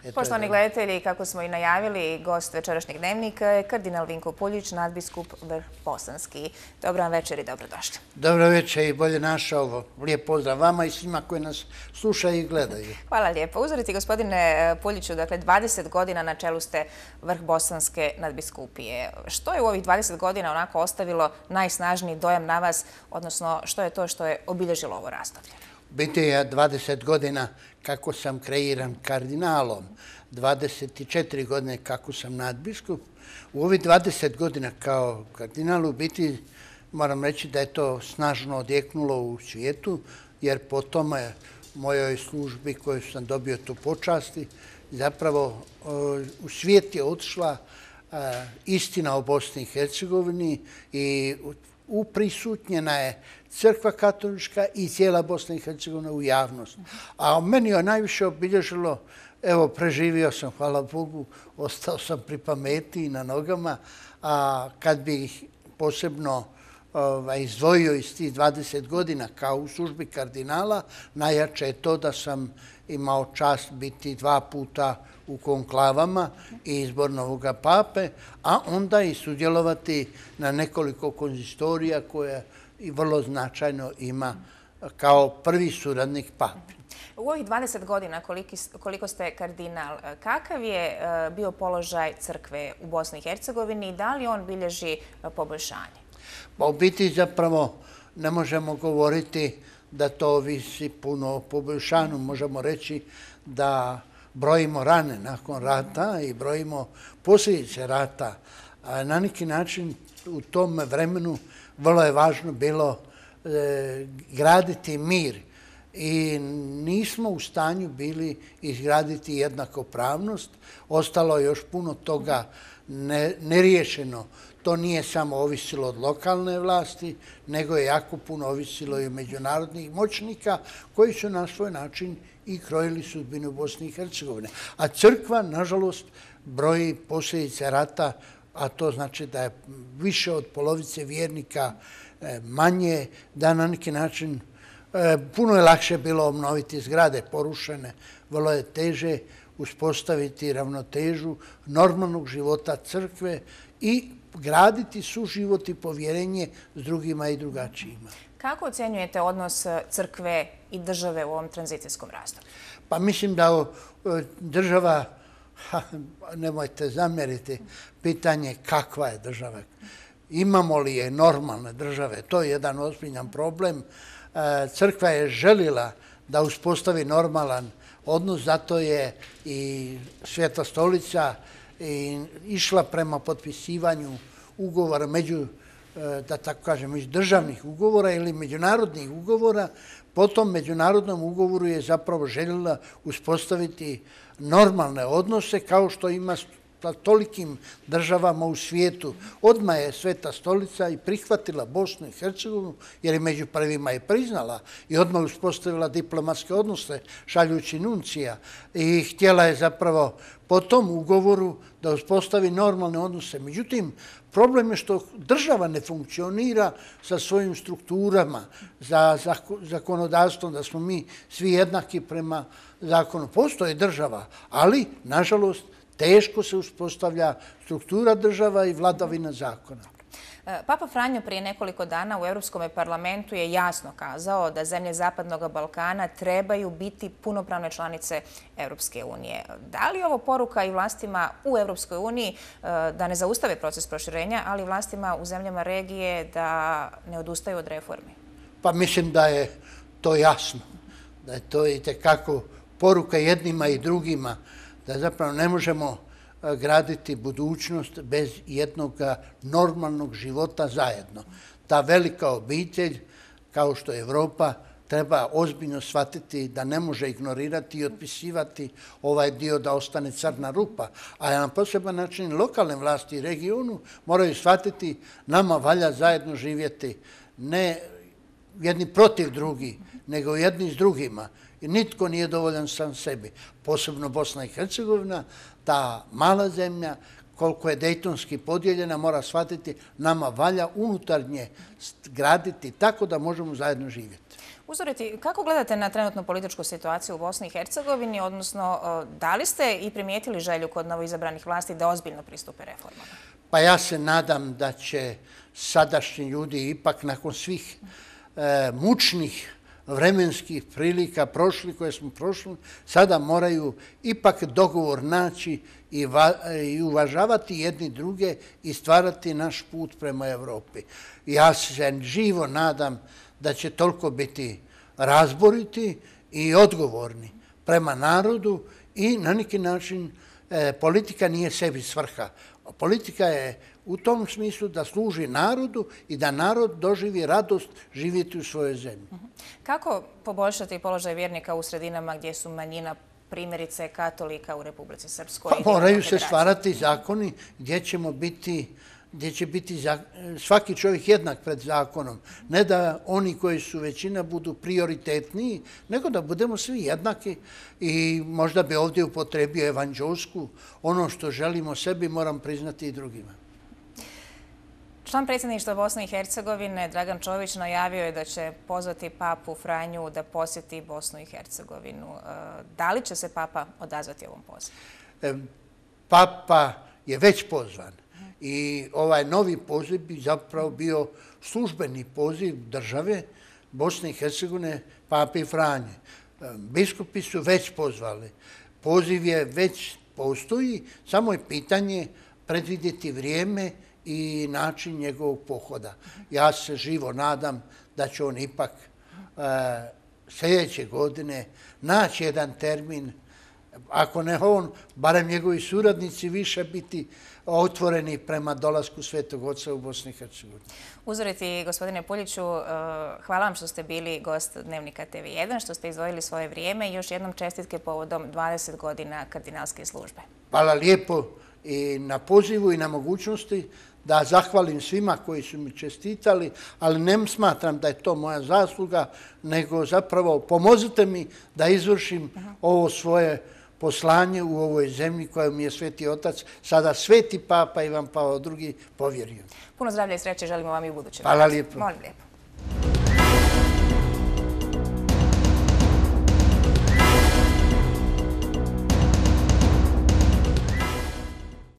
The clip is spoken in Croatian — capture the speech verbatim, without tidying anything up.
Poštovani gledatelji, kako smo i najavili, gost večerašnjeg dnevnika je kardinal Vinko Puljić, nadbiskup Vrhbosanski. Dobar vam večer i dobrodošli. Dobro večer i bolje našao. Lijep pozdrav vama i svima koji nas slušaju i gledaju. Hvala lijepo. Uzoriti gospodine Puljiću, dakle dvadeset godina na čelu ste Vrhbosanske nadbiskupije. Što je u ovih dvadeset godina onako ostavilo najsnažniji dojam na vas, odnosno što je to što je obilježilo ovo razdoblje? Biti je dvadeset godina kako sam kreiran kardinalom, dvadeset četiri godine kako sam nadbiskup. U ovih dvadeset godina kao kardinal u biti moram reći da je to snažno odjeknulo u svijetu, jer po tome mojoj službi koju sam dobio tu počasti, zapravo u svijet je otišla istina o Bosni i Hercegovini i uprisutnjena je crkva katolička i cijela Bosna i Hercegovina u javnost. A meni je najviše obilježilo, evo, preživio sam, hvala Bogu, ostao sam pri pameti i na nogama, a kad bih posebno izdvojio iz tih dvadeset godina kao u službi kardinala, najjače je to da sam imao čast biti dva puta u konklavama i izbor novoga pape, a onda i sudjelovati na nekoliko konzistorija koje i vrlo značajno ima kao prvi suradnik pape. U ovih dvadeset godina koliko ste kardinal, kakav je bio položaj crkve u Bosni i Hercegovini i da li on bilježi poboljšanje? Pa u biti zapravo ne možemo govoriti da to ovisi puno o poboljšanju. Možemo reći da brojimo rane nakon rata i brojimo posljedice rata. Na neki način u tom vremenu vrlo je važno bilo graditi mir i nismo u stanju bili izgraditi jednakopravnost. Ostalo je još puno toga neriješeno. To nije samo ovisilo od lokalne vlasti, nego je jako puno ovisilo i od međunarodnih moćnika koji su na svoj način i krojili sudbinu Bosne i Hercegovine. A crkva, nažalost, broji posljedice rata, a to znači da je više od polovice vjernika manje, da na neki način puno je lakše bilo obnoviti zgrade porušene, vrlo je teže uspostaviti ravnotežu normalnog života crkve i graditi suživot i povjerenje s drugima i drugačijima. Kako ocjenjujete odnos crkve i države u ovom tranzicijskom razdoblju? Pa mislim da država, nemojte zamjeriti, pitanje kakva je država. Imamo li je normalne države? To je jedan ozbiljan problem. Crkva je želila da uspostavi normalan odnos, zato je i Sveta stolica išla prema potpisivanju ugovora među, da tako kažem, među državnih ugovora ili međunarodnih ugovora. Po tom međunarodnom ugovoru je zapravo željela uspostaviti normalne odnose kao što ima sa tolikim državama u svijetu. Odmah je Sveta stolica i prihvatila Bosnu i Hercegovinu, jer je među prvima i priznala i odmah uspostavila diplomatske odnose šaljući nuncija i htjela je zapravo po tom ugovoru da uspostavi normalne odnose. Međutim, problem je što država ne funkcionira sa svojim strukturama, za zakonodavstvom, da smo mi svi jednaki prema zakonu. Postoji država, ali, nažalost, teško se uspostavlja struktura država i vladavina zakona. Papa Franjo prije nekoliko dana u Europskom parlamentu je jasno kazao da zemlje Zapadnog Balkana trebaju biti punopravne članice Europske unije. Da li je ovo poruka i vlastima u Europskoj uniji da ne zaustave proces proširenja, ali i vlastima u zemljama regije da ne odustaju od reformi? Pa mislim da je to jasno, da je to itekako poruka jednima i drugima, da zapravo ne možemo graditi budućnost bez jednog normalnog života zajedno. Ta velika obitelj, kao što je Evropa, treba ozbiljno shvatiti da ne može ignorirati i otpisivati ovaj dio da ostane crna rupa. A na poseban način lokalne vlasti i regionu moraju shvatiti nama valja zajedno živjeti ne jedni protiv drugi, nego jedni s drugima. I nitko nije dovoljan sam sebi. Posebno Bosna i Hercegovina, ta mala zemlja, koliko je dejtonski podijeljena, mora shvatiti nama valja unutarnje graditi tako da možemo zajedno živjeti. Uzoriti, kako gledate na trenutnu političku situaciju u Bosni i Hercegovini, odnosno da li ste i primijetili želju kod novoizabranih vlasti da ozbiljno pristupe reformama? Pa ja se nadam da će sadašnji ljudi ipak nakon svih e, mučnih vremenskih prilika prošli koje smo prošli, sada moraju ipak dogovor naći i, va, i uvažavati jedni druge i stvarati naš put prema Evropi. Ja se živo nadam da će toliko biti razboriti i odgovorni prema narodu i na neki način e, politika nije sebi svrha. Politika je u tom smislu da služi narodu i da narod doživi radost živjeti u svojoj zemlji. Kako poboljšati položaj vjernika u sredinama gdje su manjina, primjerice katolika u Republici Srpskoj? Pa moraju se stvarati zakoni gdje ćemo biti gdje će biti svaki čovjek jednak pred zakonom. Ne da oni koji su većina budu prioritetniji, nego da budemo svi jednaki i možda bi ovdje upotrebio evanđelsku. Ono što želimo sebi moram priznati i drugima. Član predsjedništva Bosne i Hercegovine Dragan Čović najavio je da će pozvati papu Franju da posjeti Bosnu i Hercegovinu. Da li će se papa odazvati ovom pozivu? Papa je već pozvan. I ovaj novi poziv bi zapravo bio službeni poziv države Bosne i Hercegovine, pape Franje. Biskupi su već pozvali. Poziv je već postoji, samo je pitanje predvidjeti vrijeme i način njegovog pohoda. Ja se živo nadam da će on ipak e, sljedeće godine naći jedan termin, ako ne on, barem njegovi suradnici više biti otvoreni prema dolasku Svetog Oca u Bosni i Hercegovini. Uzoriti, gospodine Puljiću, hvala vam što ste bili gost Dnevnika T V jedan, što ste izdvojili svoje vrijeme i još jednom čestitke povodom dvadeset godina kardinalske službe. Hvala lijepo i na pozivu i na mogućnosti da zahvalim svima koji su mi čestitali, ali ne smatram da je to moja zasluga, nego zapravo pomozite mi da izvršim ovo svoje poslanje u ovoj zemlji koju mi je Sveti Otac, sada Sveti Papa Ivan Pavao drugi povjerio. Puno zdravlja i sreće želimo vam i u budućem. Hvala lijepo. Molim lijepo.